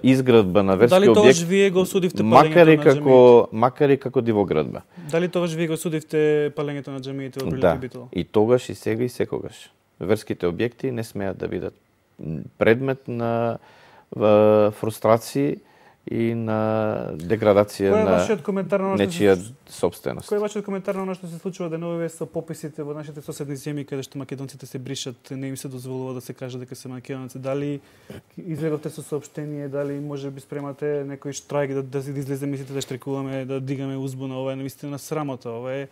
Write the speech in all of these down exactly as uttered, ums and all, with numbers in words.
изградба на верски објект. Дали тогаш вие го осудивте макар и палењето како на макар и како дивоградба? Дали тогаш вие го осудивте палењето на џамиите во Велики Да, Битола? и тогаш и сега и секогаш. Верските објекти не смеат да бидат предмет на фрустрации и на деградација на нечија собственост. Кој е вашиот коментар на она што се случува деновиве со пописите во нашите соседни земји каде што македонците се бришат, не им се дозволува да се каже дека се македонци? Дали излегавте со соопштение, дали можеби спремате некој штрајк да, да излезе, мислите да штрекуваме, да дигаме узбуна? Ова е навистина срамота, ова е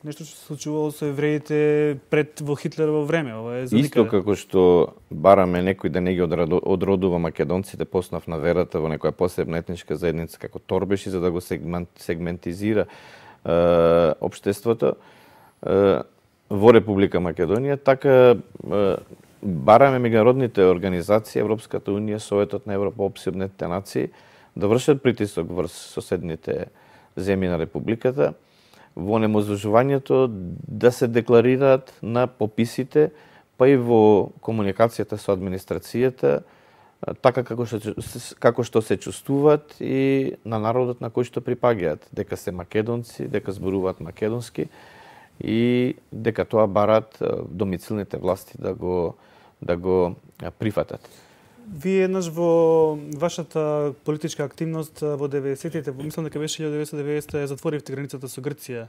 нешто што се случувало со евреите пред во Хитлерово време. Ова е за Исто како што бараме некој да не ги одродува македонците по основ на верата во некоја посебна етничка заедница како торбеши, за да го сегмент, сегментизира е, општеството е, во Република Македонија, така е, бараме меѓународните организации, Европската унија, Советот на Европа, Обединетите нации да вршат притисок врз соседните земји на републиката во неможувањето да се декларираат на пописите, па и во комуникацијата со администрацијата, така како што, како што се чувствуваат и на народот на кој што припаѓаат, дека се македонци, дека зборуваат македонски и дека тоа барат домицилните власти да го да го прифатат. Вие еднаш во вашата политичка активност во деветдесетите, мислам дека беше илјада деветстотини и деветдесета, затворивте границата со Грција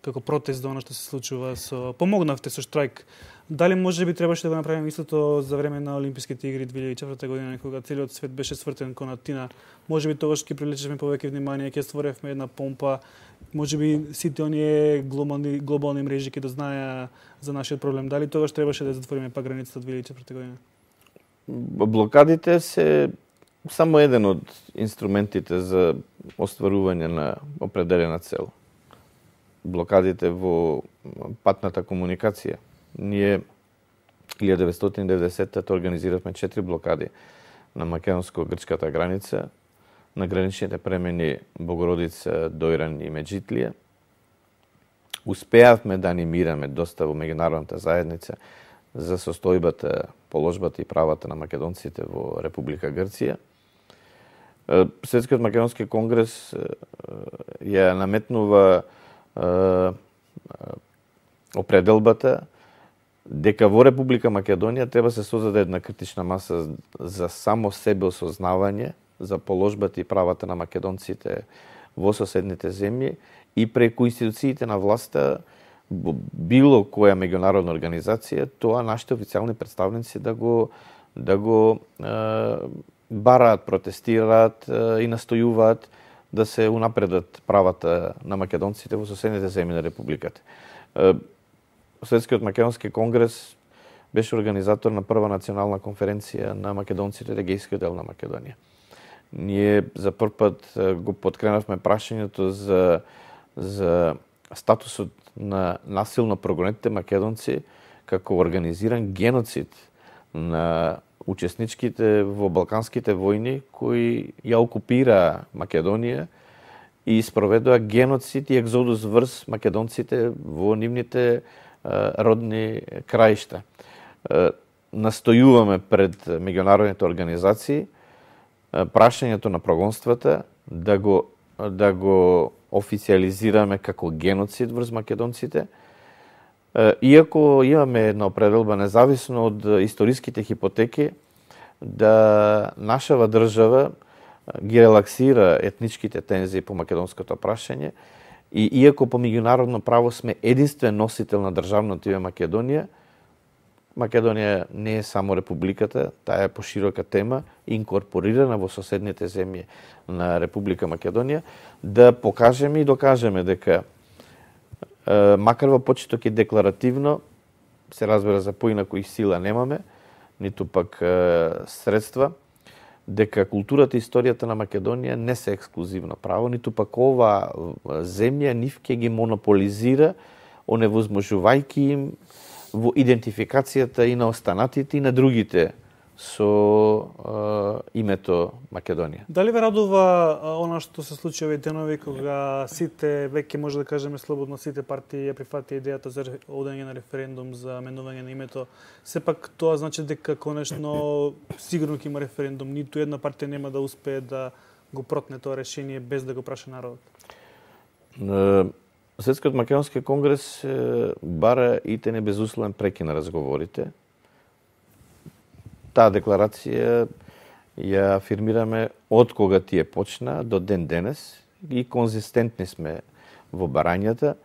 како протест за она што се случува со помогнавте со штрајк. Дали можеби требаше да го направиме истото за време на Олимписките игри две илјади и четврта година, кога целиот свет беше свртен кон Атина? Можеби тогаш ќе привлечеме повеќе внимание, ќе створевме една помпа, можеби сите оние глобални глобални мрежи ќе да знаеа за нашиот проблем. Дали тогаш требаше да затвориме па границата две илјади и четврта година? Блокадите се само еден од инструментите за остварување на определена цел. Блокадите во патната комуникација. Ние илјада деветстотини и деветдесетта организиравме четири блокади на македонско-грчката граница, на граничните премени Богородица, Дојран и Меджитлија. Успеавме да анимираме доста во меѓународната заедница за состојбата, положбата и правата на македонците во Република Грција. Светскиот македонски конгрес ја наметнува определбата дека во Република Македонија треба се создаде една критична маса за само себе осознавање за положбата и правата на македонците во соседните земји и преку институциите на власта било која меѓународна организација, тоа нашите официјални представници да го да го е, бараат, протестираат е, и настојуваат да се унапредат правата на македонците во соседните земји на републиката. Е, Светскиот македонски конгрес беше организатор на прва национална конференција на македонците од егејскиот дел на Македонија. Ние за прв пат го подкренавме прашањето за за статусот на насилно прогонетите македонци како организиран геноцид на учесничките во Балканските војни кои ја окупираа Македонија и спроведоа геноцид и екзодус врз македонците во нивните родни краишта. Настојуваме пред меѓународните организации прашањето на прогонствата да го да го официализираме како геноцид врз македонците, иако имаме една определба независно од историските хипотеки да нашава држава ги релаксира етничките тензии по македонското прашање и иако по меѓународно право сме единствен носител на државното име Македонија, Македонија не е само републиката, таа е поширока тема, инкорпорирана во соседните земји на Република Македонија, да покажеме и докажеме дека макар во почеток и декларативно, се разбира за поинаку и сила немаме, ниту пак средства, дека културата и историјата на Македонија не се ексклузивно право, ниту пак ова земја нив ќе ги монополизира, оневозможувајќи им во идентификацијата и на останатите и на другите со е, името Македонија. Дали ве радува она што се случи овие денови кога сите, веќе може да кажеме слободно, сите партии ја прифати идејата за одење на референдум за менување на името? Сепак тоа значи дека конечно сигурно ќе има референдум, ниту една партија нема да успее да го протне тоа решение без да го праша народот. Светскиот македонски конгрес бара итене безусловен прекин на разговорите. Таа декларација ја афирмираме од кога тие почна до ден денес и конзистентни сме во барањата.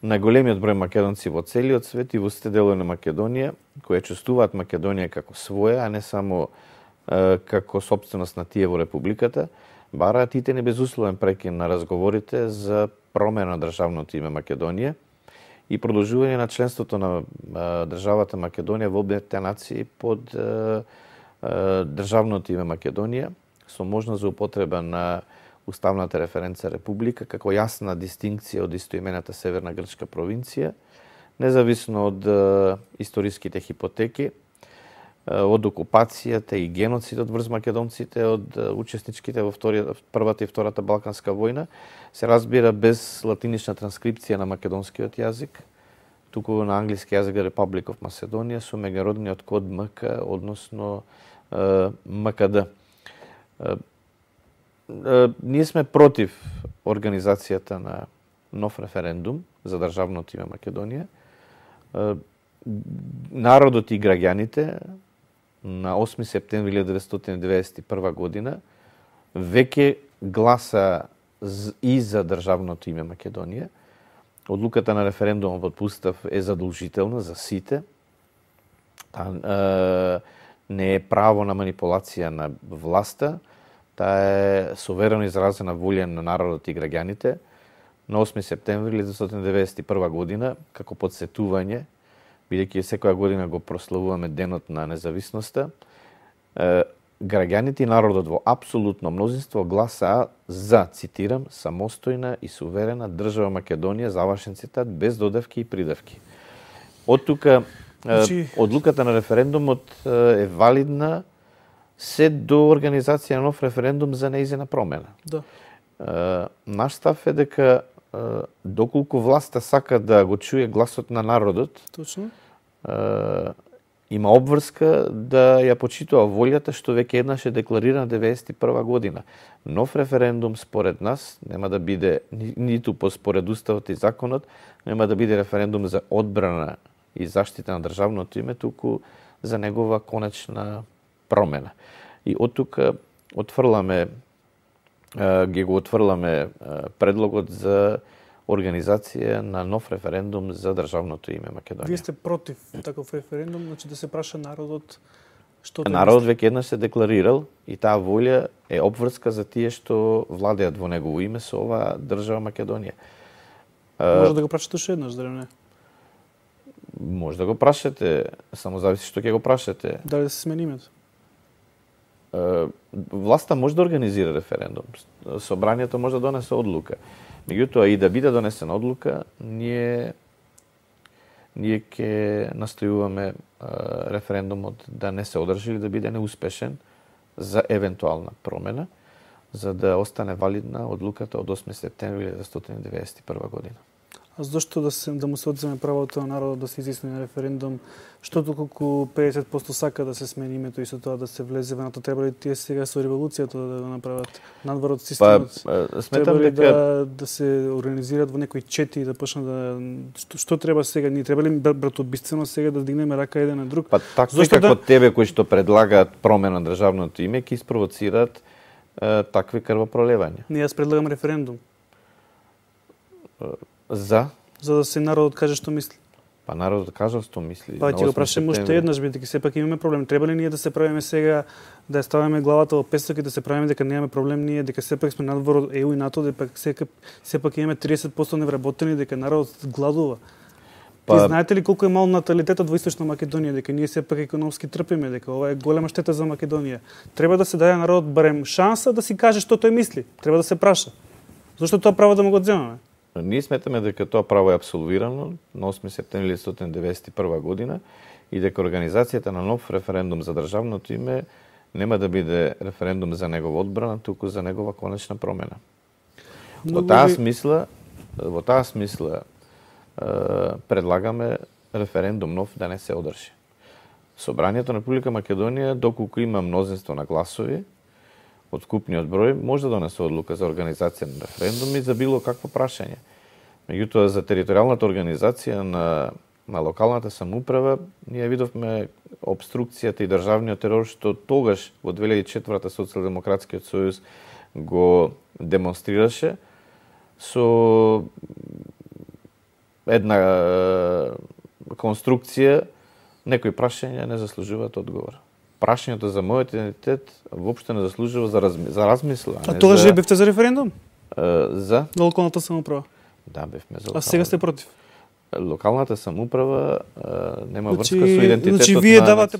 Најголемиот број македонци во целиот свет и во сите делови на Македонија кои чувствуваат Македонија како своја, а не само е, како собственост на тие во републиката, бараат итене безусловен прекин на разговорите за промена на државното име Македонија и продолжување на членството на а, државата Македонија во Обединетите нации под а, а, државното име Македонија со можност за употреба на уставната референца Република како јасна дистинкција од истоимената Северна грчка провинција, независно од а, историските хипотеки, а, од окупацијата и геноцидот врз македонците од а, учесничките во вториот, првата и втората Балканска војна, се разбира без латинична транскрипција на македонскиот јазик, туку на англиски јазик Republic of Macedonia со меѓународниот код М К, односно е, М К Д. Е, е, ние сме против организацијата на нов референдум за државното име Македонија. Е, народот и граѓаните на осми септември илјада деветстотини деветдесет и прва година веќе гласа и за државното име Македонија. Одлуката на референдумот од Устав е задолжителна за сите. Та, е, не е право на манипулација на власта, таа е суверено изразена волја на народот и граѓаните. На осми септември илјада деветстотини деветдесет и прва година, како подсетување, бидејќи секоја година го прославуваме денот на независноста, е, граѓаните и народот во апсолутно мнозинство гласаа за, цитирам, самостојна и суверена држава Македонија, завршен цитат, без додавки и придавки. Од тука, значи... одлуката на референдумот е валидна се до организација на нов референдум за нејзина промена. Да. Наш став е дека доколку власта сака да го чуе гласот на народот, точно, има обврска да ја почитува волјата што веќе еднаш е декларирана деветдесет и прва година. Нов референдум според нас нема да биде ниту по според уставот и законот, нема да биде референдум за одбрана и заштита на државното име, туку за негова конечна промена. И од тука отфрламе ги го отфрламе предлогот за организација на нов референдум за државното име Македонија. Вие сте против таков референдум, значи да се праша народот што Народот веќе еднаш се декларирал и таа волја е обврска за тие што владеат во негово име со оваа држава Македонија. Може да го прашате уште еднаш, дали не? Може да го прашате, само зависи што ќе го прашате. Дали да се смени името? Власта може да организира референдум. Собранието може да донесе одлука. Меѓутоа и да биде донесена одлука, ние ние ќе настојуваме референдумот да не се одржи или да биде неуспешен за евентуална промена, за да остане валидна одлуката од осми септември илјада деветстотини деветдесет и прва година. А зошто да се да му се одземе правото на народот да се изјасни на референдум, што толку педесет проценти сака да се смени името и со тоа да се влезе во НАТО, треба ли тие сега со револуцијата да го направат надвор од системот? Па, сметам дека да, да се организираат во некои чети и да почнат да што, што треба сега? Ние треба ли братоубиствено сега да дигнеме рака еден на друг? Па такви како да... тебе кои што предлагаат промена на државното име ќе испровоцираат е, такви крвопролевања. Ние јас предлагам референдум. За? За да се народот каже што мисли. Па народот кажа што мисли. Па ќе го прашаме уште еднаш, бидејќи сепак имаме проблем. Треба ли ние да се правиме сега, да ја ставиме главата во песок и да се правиме дека немаме проблем ние, дека сепак сме надвор од Е У и НАТО, дека сепак, сепак имаме триесет проценти невработени, дека народот гладува. Па... Ти знаете ли колку е мал наталитетот во Источна Македонија, дека ние сепак економски трпиме, дека ова е голема штета за Македонија. Треба да се даде народот барем шанса да си каже што тој мисли. Треба да се праша. Зошто тоа право да му го одземаме? Ние сметаме дека тоа право е апсолвирано на осми септември илјада деветстотини деветдесет и прва година и дека организацијата на нов референдум за државното име нема да биде референдум за негова одбрана, туку за негова конечна промена. Во таа ви... смисла, во таа смисла предлагаме референдум нов да не се одржи. Собранието на Република Македонија, доколку има мнозинство на гласови од купниот број, може да донесе одлука за организација на референдуми за било какво прашање. Меѓутоа, за територијалната организација на, на локалната самоуправа, ние видовме обструкцијата и државниот терор, што тогаш, во две илјади и четврта Социјалдемократскиот сојуз го демонстрираше со една конструкција, некои прашања не заслужуваат одговор. Прашањето за мојот идентитет воопшто не заслужува за, разми, за размисла. А, а тогаш за... бевте за референдум? Uh, за? На локалната самоуправа? Да, бевме за локалната. А сега сте против? Локалната самоуправа uh, нема значи, врска со идентитетот значи, вие на давате